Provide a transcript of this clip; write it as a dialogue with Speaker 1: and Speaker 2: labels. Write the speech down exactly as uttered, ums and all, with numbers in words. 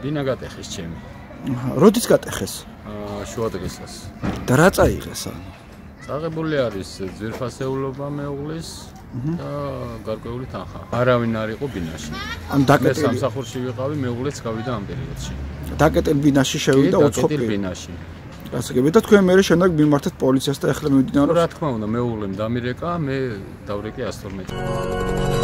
Speaker 1: ბინა გატეხეს ჩემი.
Speaker 2: როდის გატეხეს?
Speaker 1: შუა დღესაც.
Speaker 2: და რა წაიღეს ანუ?
Speaker 1: წაღებული არის ძვირფასეულობა მეუღლის და გარკვეული თანხა. არავინ არ იყო ბინაში.
Speaker 2: ან დაკეტილი
Speaker 1: სამსახურში ვიყავი, მეუღლეც გავიდა ამ პერიოდში.
Speaker 2: დაკეტილ ბინაში შევიდა უცხოპი
Speaker 1: ბინაში.
Speaker 2: გასაგები და თქვენ მერე შემდეგ მიმართეთ პოლიციას და ეხლა მივიდიან
Speaker 1: რა თქმა უნდა მეუღლემ დამირეკა, მე დავრეკე ას თორმეტი.